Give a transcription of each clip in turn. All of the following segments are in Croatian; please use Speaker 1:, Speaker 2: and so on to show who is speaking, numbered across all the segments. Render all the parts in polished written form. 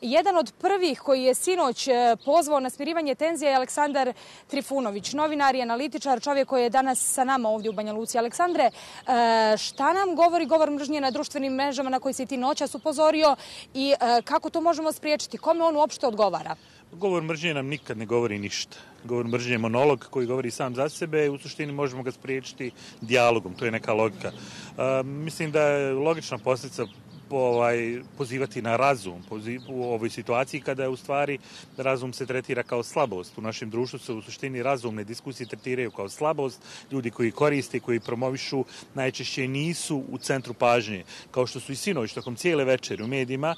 Speaker 1: Jedan od prvih koji je sinoć pozvao na smirivanje tenzija je Aleksandar Trifunović, novinar i analitičar, čovjek koji je danas sa nama ovdje u Banja Luci. Aleksandre, šta nam govori govor mržnje na društvenim mrežama na koji si ti noćas upozorio i kako to možemo spriječiti? Kome on uopšte odgovara?
Speaker 2: Govor mržnje nam nikad ne govori ništa. Govor mržnje je monolog koji govori sam za sebe i u suštini možemo ga spriječiti dijalogom. To je neka logika. Mislim da je logična posljedica pozivati na razum u ovoj situaciji kada u stvari razum se tretira kao slabost. U našem društvu se u suštini razumne diskusije tretiraju kao slabost. Ljudi koji koriste, koji promovišu najčešće nisu u centru pažnje. Kao što su i sinoć tokom cijele večeri u medijima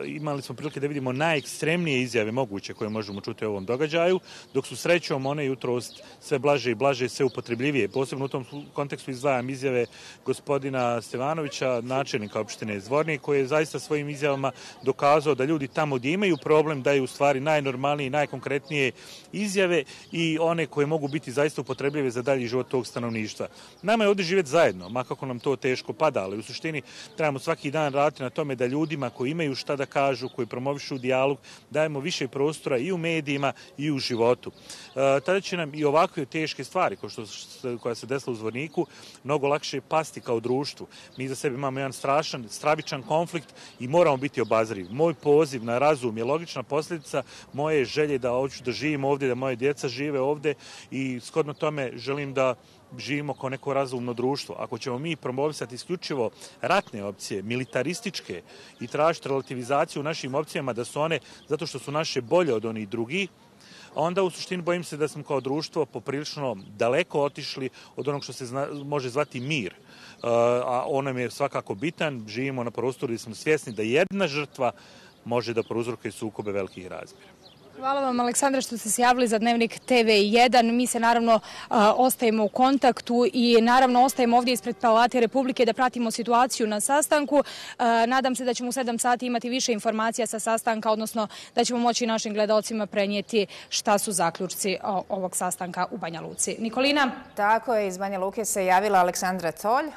Speaker 2: imali smo prilike da vidimo najekstremnije izjave moguće koje možemo čuti u ovom događaju, dok su srećom one jutros sve blaže i blaže, sve upotrebljivije. Posebno u tom kontekstu izdvajam izjave gospodina Stevanovića, načelnika opštine Zvornik, koji je zaista svojim izjavama dokazao da ljudi tamo gdje imaju problem daju u stvari najnormalnije i najkonkretnije izjave i one koje mogu biti zaista upotrebljive za dalji život tog stanovništva. Nama je ovdje živjeti zajedno, makako nam to teško pada, ali u suštini trebamo svaki dan raditi na tome da ljudima koji imaju šta da kažu, koji promovišu dijalog, dajemo više prostora i u medijima i u životu. Tada će nam i ovakve teške stvari koja se desila u Zvorniku mnogo lakše pasti kao društvu. Mi za sebe imamo jedan stravičan konflikt i moramo biti obazrivi. Moj poziv na razum je logična posljedica moje želje da hoću da živim ovdje, da moje djeca žive ovdje i shodno tome želim da živimo kao neko razumno društvo. Ako ćemo mi promovisati isključivo ratne opcije, militarističke i tražiti relativizaciju u našim opcijama da su one zato što su naše bolje od onih drugih, onda u suštini bojim se da smo kao društvo poprilično daleko otišli od onog što se može zvati mir. A on nam je svakako bitan. Živimo na prostoru gdje smo svjesni da jedna žrtva može da prouzrokuje sukobe velikih razmjera.
Speaker 1: Hvala vam, Aleksandre, što ste se javili za Dnevnik TV1. Mi se naravno ostajemo u kontaktu i naravno ostajemo ovdje ispred Palate Republike da pratimo situaciju na sastanku. Nadam se da ćemo u 7 sati imati više informacija sa sastanka, odnosno da ćemo moći našim gledalcima prenijeti šta su zaključci ovog sastanka u Banja Luci. Nikolina?
Speaker 3: Tako je, iz Banja Luke se javila Aleksandra Tolj.